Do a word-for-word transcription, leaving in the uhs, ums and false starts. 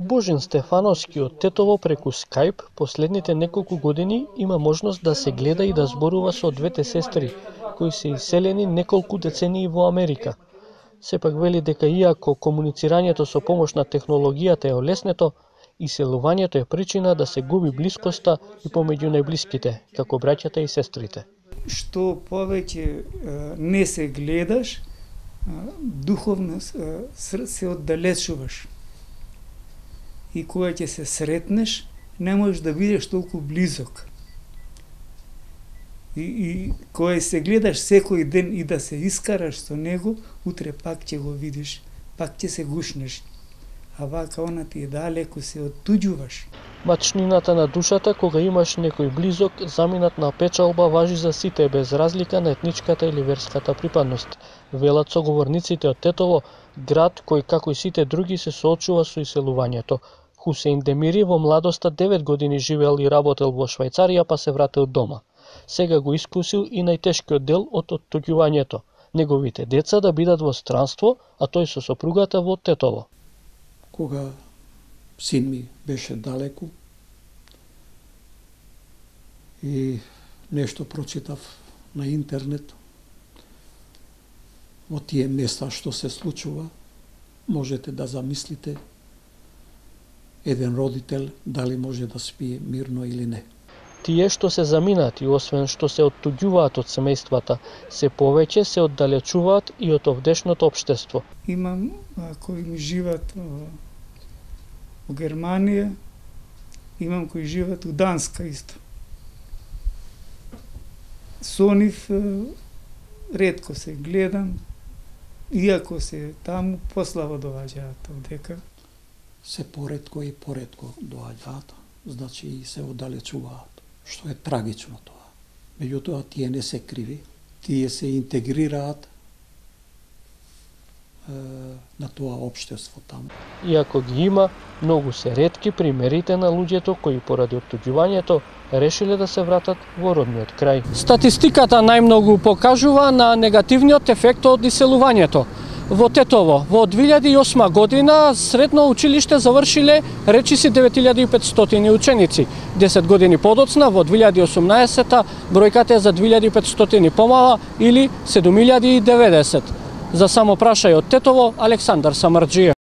Божин Стефановски од Тетово преку Скајп последните неколку години има можност да се гледа и да зборува со двете сестри, кои се иселени неколку децении во Америка. Сепак вели дека иако комуницирањето со помош на технологијата е олеснето, иселувањето е причина да се губи блискоста и помеѓу најблиските, како браќата и сестрите. Што повеќе не се гледаш, духовно се оддалечуваш. И кога ќе се сретнеш, не можеш да бидеш толку близок. И, и кога се гледаш секој ден и да се искараш со него, утре пак ќе го видиш, пак ќе се гушнеш. А вака она ти е далеко, се оттуѓуваш. Мачнината на душата кога имаш некој близок заминат на печалба важи за сите без разлика на етничката или верската припадност. Велат соговорниците од Тетово, град кој како и сите други се соочува со иселувањето. Хусеин Демири во младоста девет години живеел и работел во Швајцарија, па се вратил дома. Сега го искусил и најтешкиот дел од оттуѓувањето. Неговите деца да бидат во странство, а тој со сопругата во Тетово. Кога син ми беше далеку и нешто прочитав на интернет во тие места што се случува, можете да замислите еден родител дали може да спие мирно или не. Тие што се заминати, освен што се оттуѓуваат од семејствата, се повеќе се оддалечуваат и од овдешното општество. Имам а, кои ми живеат во Германија, имам кои живеат у Данска исто. Со нив ретко се гледам, иако се таму пославо доаѓаат овдека. Се поретко и поретко доаѓаат, значи и се оддалечуваат, што е трагично тоа. Меѓутоа тие не се криви, тие се интегрираат на тоа општество таму. Иако ги има, многу се ретки примерите на луѓето кои поради оттуѓувањето решиле да се вратат во родниот крај. Статистиката најмногу покажува на негативниот ефект од иселувањето. Во Тетово во две илјади и осма година средно училиште завршиле речиси девет илјади и петстотини ученици. десет години подоцна во две илјади и осумнаесета бројката е за две илјади и петстотини помала или седум илјади и деветдесет. За само прашај од Тетово, Александар Самарџиев.